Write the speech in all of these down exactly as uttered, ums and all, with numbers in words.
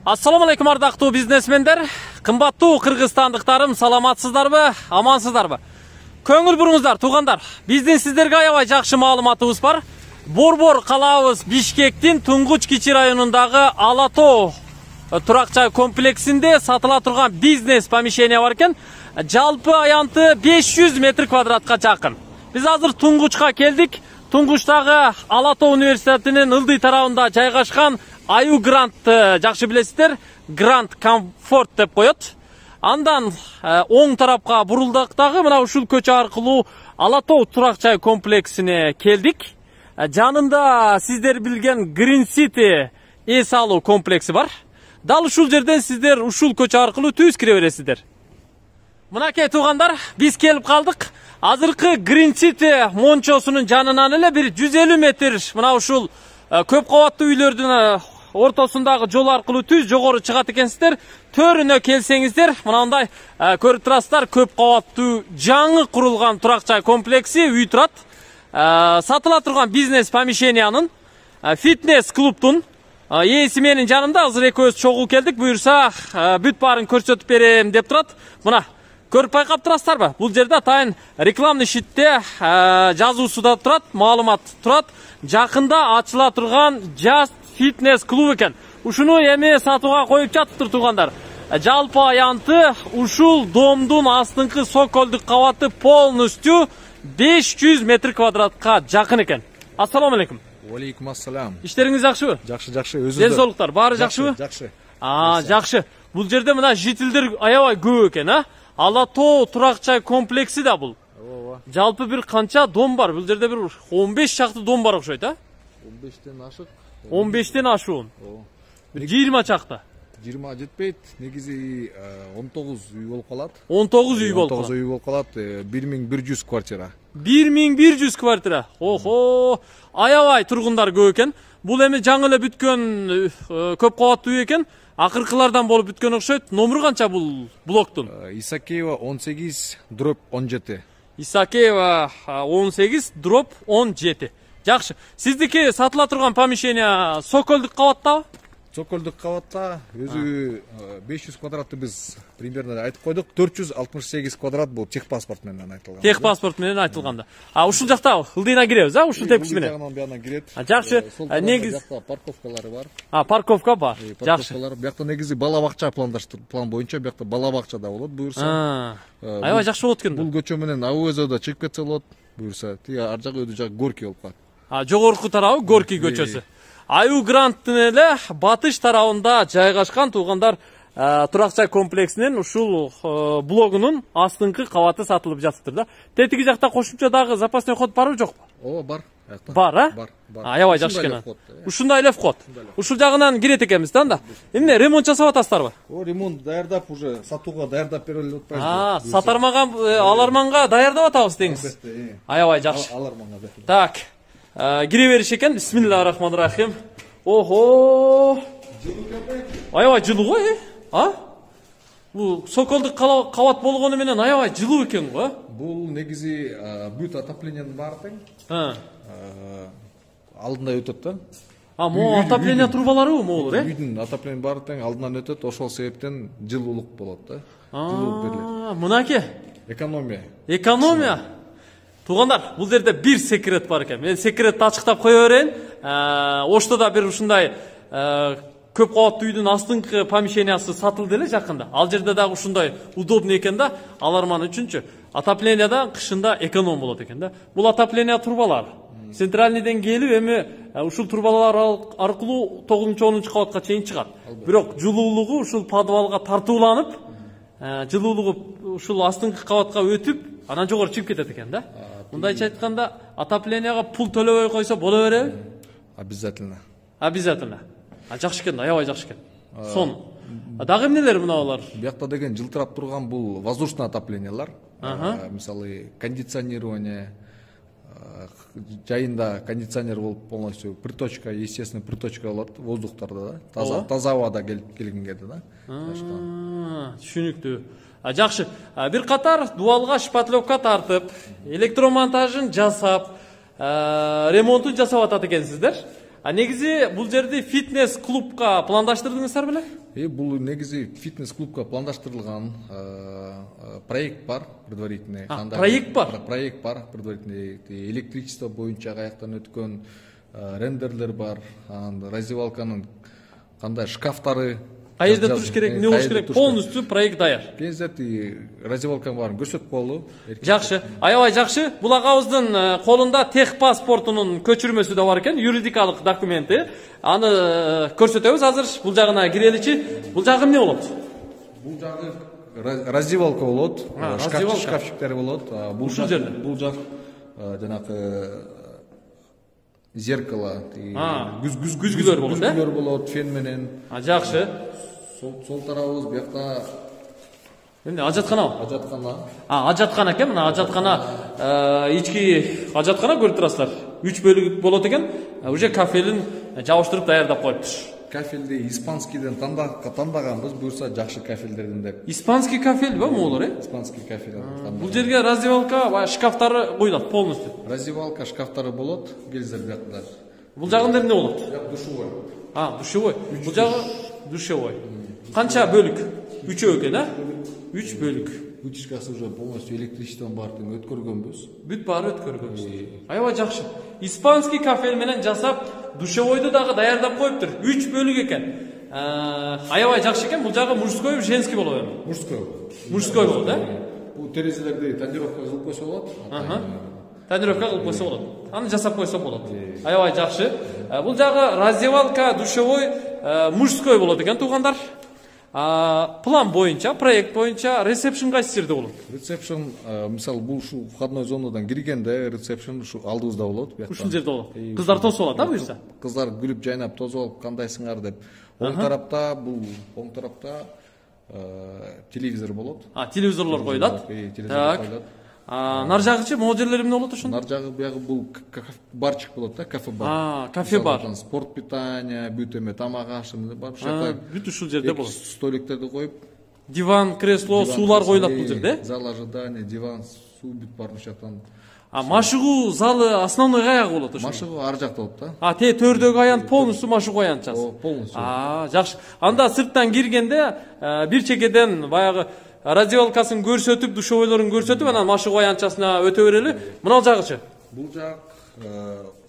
Ассаламу алейкум ардактуу бизнесмендер, кымбаттуу кыргызстандыктарым, саламатсыздарбы, амансыздарбы? Көңүл буруңуздар, туугандар. Биздин сиздерге аябай жакшы маалыматыбыз бар. Борбор калабыз Бишкектин Туңгуч Кичи районундагы Ала Тоо турак жай комплексинде сатыла турган бизнес помещение бар экен. Жалпы аянты беш жүз метр квадратка жакын. Биз азыр Туңгучка келдик. Туңгучтагы Ала Тоо университетинин ылдый тарабында жайгашкан Аю Грант жакшы билесиздер, Грант Комфорт деп коет. Андан оң тарапка бурулдук дагы мына ушул көчө аркылуу Ала Тоо турак жай комплексине келдик. Жанында сиздер билген Green City эс алуу комплекси бар. Дал ушул жерден сиздер ушул көчө аркылуу түз кире бересиздер. Мынакей туугандар, биз келип калдык. Азыркы Green City мончосунун жанынан эле бир жүз элүү метр мына ушул көп кабаттуу үйлөрдүн ортосундагы жол аркылуу түз жогору чыгат экенсиздер. Төрүнө келсеңиздер, мынандай көрүп турасыздар, көп кабаттуу жаңы курулган турак жай комплекси үй турат. Сатыла турган бизнес помещениянын, фитнес клубтун ээси менин жанымда. Азыр экөөбүз чогуу келдик. Буюрса, бүт баарын көрсөтүп берем деп турат. Мына көрүп байкап турасыздарбы? Бул жерде атайын рекламный шитте жазуусу да турат, маалымат турат. Жакында ачыла турган Just Fitness клуб экен. Ушуну эми сатууга коюп жатыптыр туугандар. Жалпы аянты ушул домдун астыңкы соколдук кабаты полностью беш жүз метр квадратка жакын экен. Ассаламу алейкум. Алейкум ассалам. Иштериңиз жакшыбы? Жакшы, жакшы. Өзүңүздөр? Ден соолуктар баары жакшыбы? Жакшы. А, жакшы. Бул жерде мына жителдер аябай көп экен, а? Ала Тоо турак жай комплекси да бул. Ооба. Жалпы бир канча дом бар? Бул жерде бир он беш чакты дом бар окшойт, а? он бештен ашык. он бештен ашуун. Ооба. Бир жыйырма чакты. жыйырма жетпейт. Негизи он тогуз үй болуп калат. он тогуз үй болуп калат. он тогуз үй болуп калат. бир миң бир жүз квартира. бир миң бир жүз квартира. Охо, аябай тургундар көп экен. Бул эми жаңы эле бүткөн көп кабаттуу үй экен. Акыркылардан болуп бүткөн окшойт. Номеру канча бул блоктун? Исакеева он сегиз дробь он жети. Исакеева он сегиз дробь он жети. Жакшы. Сиздики сатыла турган помещение соколдук кабаттабы? Соколдук кабатта өзү беш жүз квадратты биз примерно айтып койдук. төрт жүз алтымыш сегиз квадрат бул техпаспорт менен айтылган. Техпаспорт менен айтылганда. А ушул жакта ылдыйна киребиз, а? Ушул тепкиси менен. Ушул жагынан кирет. Жакшы. Негиз парковкалары бар. А, парковка бар. Жакшы. Биякта негизи бала бакча пландаштыр. План боюнча биякта бала бакча да болот, буюрса. Аябай жакшы болот экен. Бул көчө менен АВЗ да чыгып кетсе болот, буюрса. Тиги ар жагы өдү жагы Горький болуп калат. А, жогорку тарабы Горький көчөсү. Аю Гранттын эле батыш тарабында жайгашкан туугандар турак жай комплексинин ушул блогунун астыңкы кабаты сатылып жатыптыр да. Тетиги жакта кошумча дагы запасной ход барбы жокпу? Ооба, бар. Бар, а? Бар, бар. Аябай жакшы экен. Ушундай эле вход. Ушул жагынан кирет экенбиз да анда. Эмне ремонт жасап атасыздарбы? О, ремонт даярдап уже сатууга даярдап берели деп атпайбызбы? А, сатармаган аларманга даярдап атабыз деңиз. Аябай жакшы. Аларманга. Так. Кире бериш экен. Бисмиллахир-рахманир-рахим. Охо. Аябай жылуу го, э? А? Бул соколдук кабат болгону менен аябай жылуу экен го. Бул негизи бүт отоплениянын баары тең. А. Алдында өтөт да. А, могу отопление трубаларыбы могулур, э? Үйдүн отопление баары тең алдынан өтөт, ошол себептен жылуулук болот да. Жылуу берилет. Мынаке. Экономия. Экономия. Туугандар, бул жерде бир секрет бар экен. Мен секретти ачыктап кое берейин. Оштода бир ушундай көп кабаттуу үйдүн астыңкы помещениясы сатылды эле жакында. Ал жерде дагы ушундай удобный экен да, аларман үчүнчү. Отоплениеда кышында эконом болот экен да. Бул отопление трубалар. Центральныйден келип эми ушул трубалар аркылуу тогузунчу онунчу кабатка чейин чыгат. Бирок жылуулугу ушул подвалга тартууланып, жылуулугу ушул астыңкы кабатка өтүп, анан жогору чыгып кетет экен да. Мындайча айтканда, отоплениега пул төлөбөй койсо боло береби? Обязательно. Обязательно. А жакшы экен, аябай жакшы экен. Сон. Дагы эмнелер мыналар? Биякта деген жылтырап турган бул воздушный отоплениялар. Мисалы, кондиционирование, жайында кондиционер болуп полностью приточка, естественный приточка болот воздухтарда да. Таза, таза абада келген кезде да. Түшүнүктүү. Жакшы. Бир катар дубалга шпатлевка тартып, электромонтажын жасап, ремонтун жасап атат экенсиздер. А негизи бул жерди фитнес клубка пландаштырдыңыздар беле? Э, бул негизи фитнес клубка пландаштырылган проект бар, предварительный. Проект бар? Проект бар, предварительный. Электричество боюнча каяктан өткөн рендерлер бар, раздевалканын кандай шкафтары, каерде туруш керек, эмне болуш керек, полностью проект даяр. Кензет раздевалканын баарын көрсөтүп коелу. Жакшы, аябай жакшы. Бул агабыздын колунда тех паспортунун көчүрмөсү да бар экен, юридикалык документи. Аны көрсөтөбүз азыр. Бул жагына киреличи. Бул жагы эмне болот? Бул жагы раздевалка болот, шкафчиктер болот. Ушул жерде. Бул жак жанагы зеркало, күзгүлөр болот, э? Күзгүлөр болот, фен менен. А жакшы. Сол тарабыбыз буякта эмне, ажатканабы? Ажаткана. А, ажаткана экен. Мына ажаткана, ички ажаткана көрүп турасыздар. үч бөлүк болот экен. Уже кафелин жабыштырып даярдап коюптур. Кафелди испанскийден тандаганбыз, буюрса жакшы кафелдерден деп. Испанский кафел ба могулар, э? Испанский кафел. Бул жерге раздевалка, баягы шкафтары коюлат полностью. Раздевалка, шкафтары болот, келиздер буякта. Бул жагында эмне болот? Душевой. А, душевой. Бул жагы душевой. Канча бөлүк? үчөө экен, а? үч бөлүк. Вытяжкасы уже полностью электричестводан баарын өткөргөнбүз. Бүт баары өткөргөнбүз. Аябай жакшы. Испанский кафел менен жасап, душевойду дагы даярдап коюптур. үч бөлүк экен. Аябай жакшы экен. Бул жагы мужской, женский болот эми. Мужской. Мужской болот, э? Бул терезелерди тонировка кылып койсо болот. Тонировка кылып койсо болот. Аны жасап койсо болот. Аябай жакшы. Бул жагы раздевалка, душевой, мужской болот экен, туугандар. План боюнча, проект боюнча ресепшн кайсы жерде болот? Ресепшн, мисалы, бул ушу входной зонадан киргенде ресепшн ушу алдыбызда болот. Ушул жерде болот. Кыздар тосуп алат, а буюрса? Кыздар күлүп жайнап тосуп алып, кандайсыңар деп. Оң тарапта, бул оң тарапта телевизор болот. А, телевизорлор коюлат. Телевизор коюлат. Нар жагычы могу жерлер эмне болот ошондо? Нар жагы буягы бул барчык болот да, кафе бар. А, кафе бар. Спорт питание, бүт эме тамак аш бар. Бүт ушул жерде болот. Столиктерди коюп, диван, кресло, суулар коюлат бул жерде. Зал ожидания, диван, суу бүт бар ушактан. А машыгуу залы основной каягы болот ошо? Машыгуу ар жакта болот да. А, те төрдөгү аянт полностью машыгуу аянтчасы. Полностью. А, жакшы. Анда сырттан киргенде бир чекеден баягы раздевалкасын көрсөтүп, душевойлорун көрсөтүп, анан машыгуу аянтчасына өтө берели. Мына жагычы. Бул жак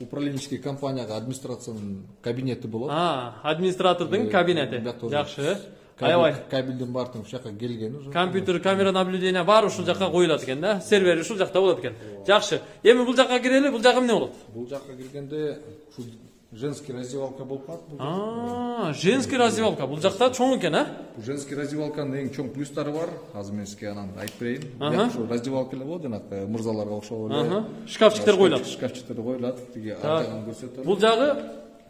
управленческий компанияга администрациянын кабинети болот. А, администратордун кабинети. Жакшы. Аябай. Кабелдин баардыгы ушул жака келген уже. Компьютер, камера наблюдения бар ушул жака коюлат экен да. Сервер ушул жакта болот экен. Жакшы. Эми бул жака кирели, бул жак эмне болот? Бул жака киргенде ушул женский раздевалка болуп калат. А, женский раздевалка. Бул жакта чоң экен, а? Бул женский раздевалканын эң чоң плюстары бар. Азыр мен сизге анан айтып берейин. Ушул раздевалка эле болот, жанагы мырзаларга окшоп эле. Шкафчиктер коюлат. Шкафчиктер коюлат. Тиги ар жагын көрсөтөт. Бул жагы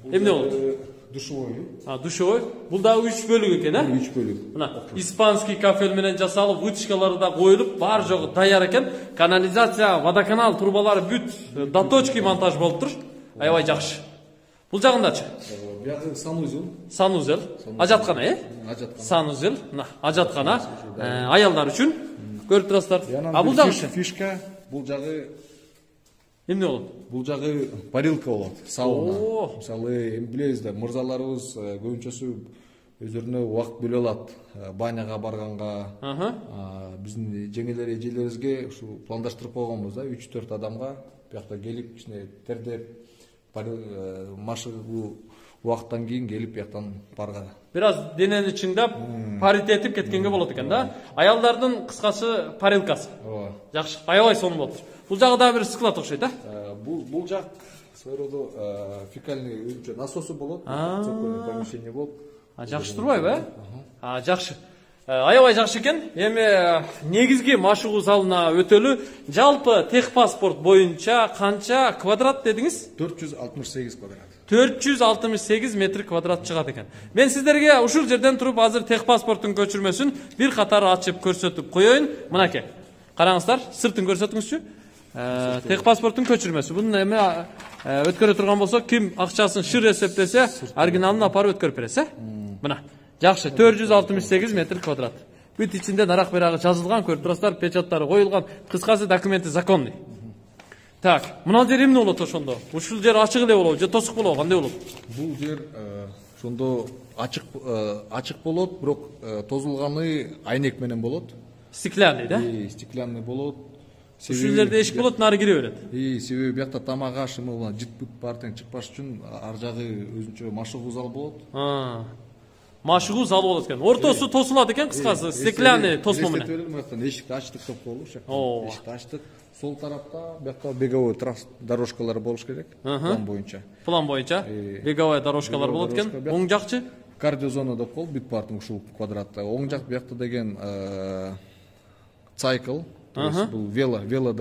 эмне болот? Душевой. А, душевой. Бул дагы үч бөлүк экен, а? үч бөлүк. Мына испанский кафел менен жасалып, вытяжкалары да коюлуп, бар жогу даяр экен. Канализация, водоканал трубалары бүт доточки монтаж болуптур. Аябай жакшы. Бул жагындачы? Бuyog'i санузел. Санузел. Ажаткана, э? Ажаткана. Санузел. Мына ажаткана. Аялдар үчүн. Көрүп турасыздар. А бул жагы фишка, бул жагы эмне болот? Бул жагы парилка болот, сауна. Мисалы, эми билебиз да, мырзаларыбыз көбүнчөсү өздөрүнө убакыт бөлө алат. Баняга барганга, биздин жеңелер эжелерибизге ушу пландаштырып койгонбуз да, үч төрт адамга буякта келип, кичине тердеп, машыгуу убакыттан кийин келип буяктан барга. Бир аз денени чыңдап, паритетип кеткенге болот экен да. Аялдардын кыскасы парилкасы. Ооба. Жакшы, аябай сонун болот. Бул жагы да бир склад окшойт, а? Бул бул жак своего рода фекальный өзүнчө насосу болот, цокольный помещение болуп. А жакшы турбайбы, э? А жакшы. Аябай жакшы экен. Эми негизги машыгуу залына өтөлү. Жалпы техпаспорт боюнча канча квадрат дедиңиз? төрт жүз алтымыш сегиз квадрат. төрт жүз алтымыш сегиз метр квадрат чыгат экен. Мен сиздерге ушул жерден туруп азыр техпаспорттун көчүрмөсүн бир катар ачып көрсөтүп коеюн. Мынакей. Караңыздар, сыртын көрсөтүңүзчү. Техпаспорттун көчүрмөсү. Бунун эми өткөрө турган болсо, ким акчасын шыр эсептесе, оригиналын апарып өткөрүп бересиз, э? Мына. Жакшы, төрт жүз алтымыш сегиз метр квадрат. Бүт ичинде нарак берагы жазылган, көрүп турасыздар, печаттары коюлган, кыскасы документи законный. Так, мына жер эмне болот ошондо? Ушул жер ачык эле болобу же тосук болобу, кандай болот? Бул жер ошондо ачык ачык болот, бирок тозулганы айнек менен болот. Стеклянный, да? Стеклянный болот. Ушул жерде эшик болот, нары кире берет. И себеби биякта тамак аш эме жыт бар тең чыкпаш үчүн ар жагы өзүнчө машыгуу зал болот. Машыгуу зал болот экен. Ортосу тосулат экен, кыскасы, стеклянный тосмо менен. Эшикти ачтык деп коелу, эшикти ачтык. Сол тарапта биякта беговой дорожкалар болуш керек, план боюнча. План боюнча беговой дорожкалар болот экен. Оң жакчы? Кардиозона деп коелу, бүт баардык ушул квадратта. Оң жак биякта деген цикл, бул вело, вело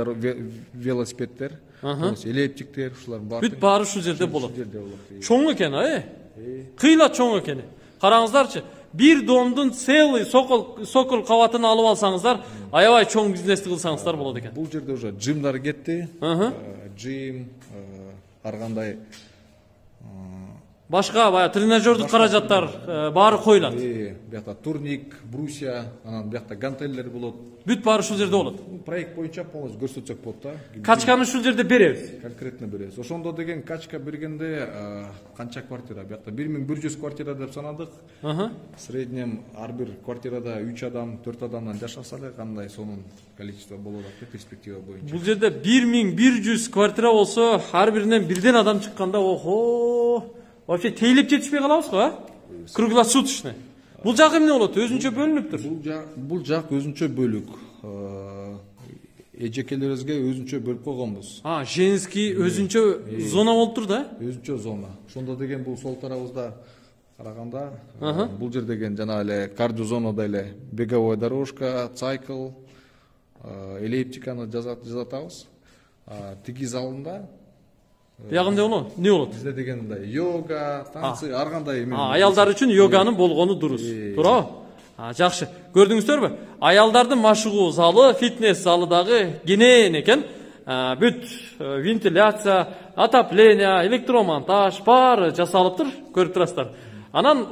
велосипеддер, эллиптиктер, ушулар баары. Бүт баары ушул жерде болот. Чоң экен, э? Кыйла чоң экен. Караңыздарчы, бир домдун целый сокол сокол кабатын алып алсаңыздар, аябай чоң бизнести кылсаңыздар болот экен. Бул жерде уже жимдар кетти. Жим, ар кандай башка баягы тренажердук каражаттар баары коюлат. Биякта турник, брусья, анан биякта гантеллер болот. Бүт баары ушул жерде болот. Проект боюнча полностью көрсөтсөк болот да. Качканы ушул жерде беребиз. Конкретно беребиз. Ошондо деген качка бергенде канча квартира? Биякта бир миң бир жүз квартира деп санадык. В среднем ар бир квартирада үч адам, төрт адамдан жашаса эле кандай сонун количество болот деп перспектива боюнча. Бул жерде бир миң бир жүз квартира болсо, ар биринен бирден адам чыкканда, охо, вообще тейлеп жетишпей калабыз го, а? Круглосуточный. Бул жак эмне болот? Өзүнчө бөлүнүптүр. Бул жак, бул жак өзүнчө бөлүк. Эжекелерибизге өзүнчө бөлүп койгонбуз. А, женский өзүнчө зона болуп тур да? Өзүнчө зона. Ошондо деген бул сол тарабыбызда караганда, бул жер деген жана эле кардиозонада эле беговой дорожка, цикл, эллиптиканы жасатабыз. Тиги залында Ягында болот? Эмне болот? Бизде деген мындай йога, танцы, ар кандай эме. Аялдар үчүн йоганын болгону дурус. Туурабы? А, жакшы. Көрдүңүздөрбү? Аялдардын машыгуу залы, фитнес залы дагы кенен экен. Бүт вентиляция, отопление, электромонтаж баары жасалыптыр, көрүп турасыздар. Анан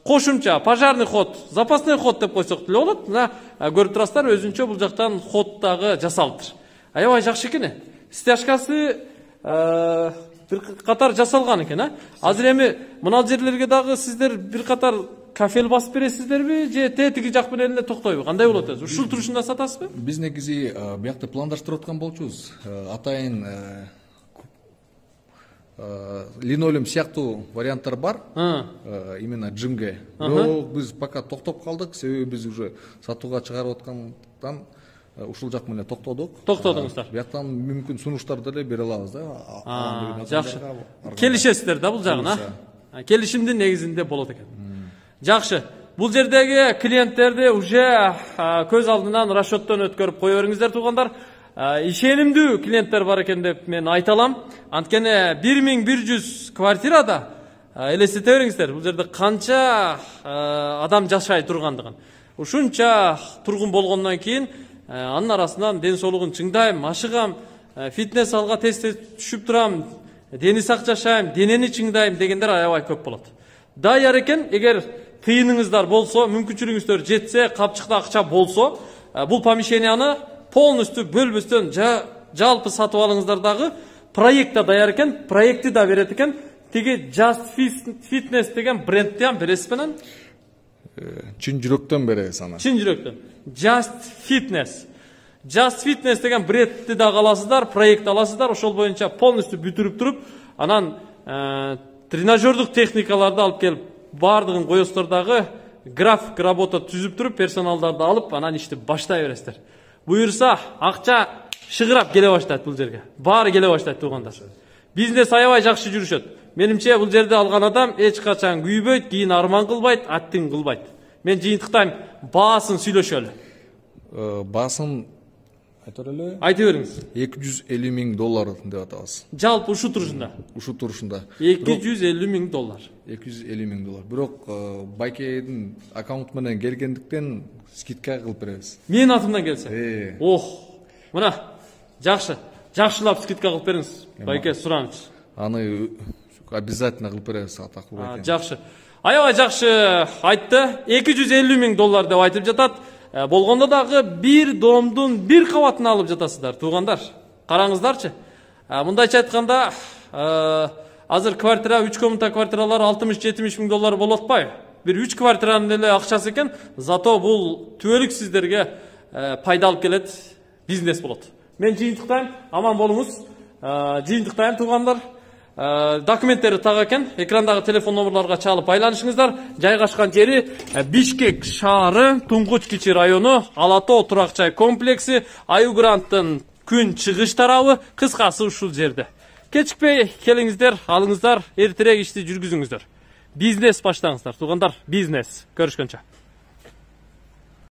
кошумча пожарный ход, запасной ход деп койсок деле болот. Мына көрүп турасыздар, өзүнчө бул жактан ход дагы жасалыптыр. Аябай жакшы экен. Стяжкасы бир катар жасалган экен, а? Азыр эми мына жерлерге дагы сиздер бир катар кафел басып бересиздерби же тетиги жак менен эле токтойбу? Кандай болот өзү? Ушул турушунда сатасызбы? Биз негизи биякта пландаштырып аткан болчубуз. Атайын линолеум сыяктуу варианттар бар. Именно джимге. Бирок биз пока токтоп калдык, себеби биз уже сатууга чыгарып аткандан ушул жак менен токтодук. Токтодуңуздар. Бияктан мүмкүн сунуштарды деле бере алабыз да. Жакшы. Келишесиздер да бул жагына? Келишимдин негизинде болот экен. Жакшы. Бул жердеги клиенттерди уже көз алдынан расчеттон өткөрүп кое бериңиздер туугандар. Ишенимдүү клиенттер бар экен деп мен айта алам. Анткени бир миң бир жүз квартирада элестете бериңиздер, бул жерде канча адам жашай тургандыгын. Ушунча тургун болгондон кийин анын арасынан ден соолугун чыңдайм, машыгам, фитнес залга тез тез түшүп турам, дени сак жашайм, денени чыңдайм дегендер аябай көп болот. Даяр экен, эгер тыйыныңыздар болсо, мүмкүнчүлүгүңүздөр жетсе, капчыкта акча болсо, бул помещенияны полностью бөлбөстөн жалпы сатып алыңыздар дагы. Проектта даяр экен, проекти да берет экен. Тиги Just Fitness деген брендти ham бересизби анан? Чын жүрөктөн беребиз аны. Чын жүрөктөн. Just Fitness. Just Fitness деген брендти да аласыздар, проект аласыздар, ошол боюнча полностью бүтүрүп туруп, анан тренажердук техникаларды алып келип, баардыгын коесуздар дагы, график работа түзүп туруп, персоналдарды алып, анан ишти баштай бересиздер. Буюрса, акча шыгырап келе баштайт бул жерге. Баары келе баштайт туугандар. Бизнес аябай жакшы жүрүшөт. Менимче бул жерде алган адам эч качан күйбөйт, кийин арман кылбайт, аттың кылбайт. Мен жыйынтыктайм, баасын сүйлөшөлү. Баасын айтор эле? Айта бериңиз. эки жүз элүү миң доллар деп атабыз. Жалпы ушу турушунда. Ушу турушунда. эки жүз элүү миң доллар. эки жүз элүү миң доллар. Бирок Байкедин аккаунт менен келгендиктен скидка кылып беребиз. Менин атымдан келсе. Ох, мына жакшы. Жакшылап скидка кылып бериңиз. Байке сураныч. Аны обязательно кылып беребиз, атактуу байке. Жакшы. Аябай жакшы айтты. эки жүз элүү миң доллар деп айтып жатат. Болгондо дагы бир домдун бир кабатын алып жатасыздар, туугандар. караңыздарчы. Мындайча айтканда, азыр квартира, үч комната квартиралар алтымыш жетимиш миң доллар болуп атпайбы? Бир үч квартиранын эле акчасы экен, зато бул түбөлүк сиздерге пайда алып келет, бизнес болот. Мен жыйынтыктайм, аман болуңуз. Жыйынтыктайм туугандар. Документтери так экен, экрандагы телефон номерлорго чалып байланышыңыздар. Жайгашкан жери Бишкек шаары, Туңгуч Кичи району, Ала Тоо турак жай комплекси, Аюгранттын күн чыгыш тарабы, кыскасы ушул жерде. Кечикпей келиңиздер, алыңыздар, эртерээк ишти жүргүзүңүздөр. Бизнес баштаңыздар, туугандар, бизнес. Көрүшкөнчө.